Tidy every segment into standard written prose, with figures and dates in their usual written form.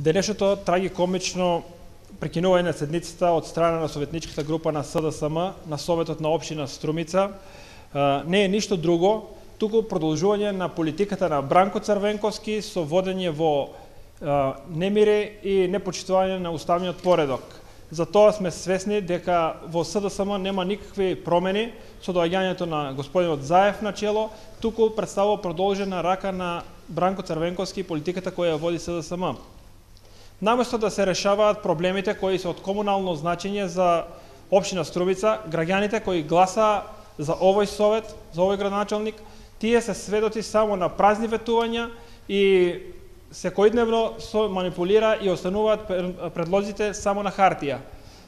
Денешното трагикомично прекинување на седницата од страна на советничката група на СДСМ на Советот на општина Струмица не е ништо друго, туку продолжување на политиката на Бранко Црвенковски со водење во немире и непочитување на уставниот поредок. Затоа сме свесни дека во СДСМ нема никакви промени со доаѓањето на господинот Заев на чело, туку представува продолжена рака на Бранко Црвенковски и политиката која ја води СДСМ. Наместо да се решаваат проблемите кои се од комунално значење за општина Струмица, граѓаните кои гласаа за овој совет, за овој градоначалник, тие се сведоци само на празни ветувања и секојдневно се манипулира и остануваат предлозите само на хартија.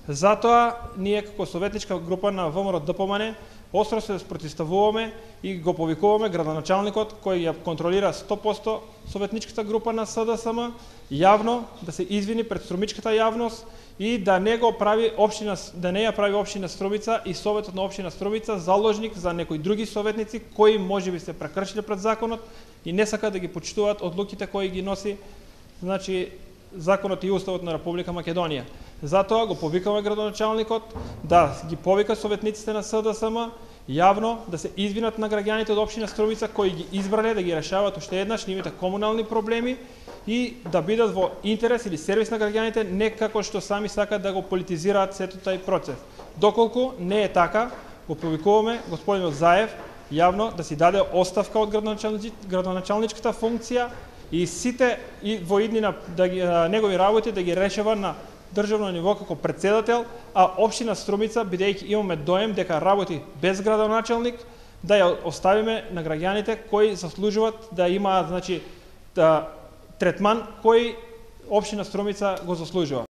Затоа ние како советничка група на ВМРО-ДПМН остро се спротивставуваме и го повикуваме градоначалникот кој ја контролира 100% советничката група на СДСМ јавно да се извини пред струмичката јавност и да не го прави општина, да не ја прави општина Струмица и советот на општина Струмица заложник за некои други советници кои можеби се прекршиле пред законот и не сака да ги почитуваат одлуките кои ги носи законот и уставот на Република Македонија. Затоа го повикаме градоначалникот да ги повика советниците на СДСМ јавно да се извинат на граѓаните од општина Струмица кои ги избрале да ги решаваат уште еднаш нивните комунални проблеми и да бидат во интерес или сервис на граѓаните, не како што сами сакаат да го политизираат сето тај процес. Доколку не е така, го повикуваме господинот Заев јавно да си даде оставка од градоначалничката функција и сите во иднина негови работи да ги решава на државно ниво како председател, а општина Струмица, бидејќи имаме доем дека работи без градоначалник, да ја оставиме на граѓаните кои заслужуваат да имаат третман кој општина Струмица го заслужува.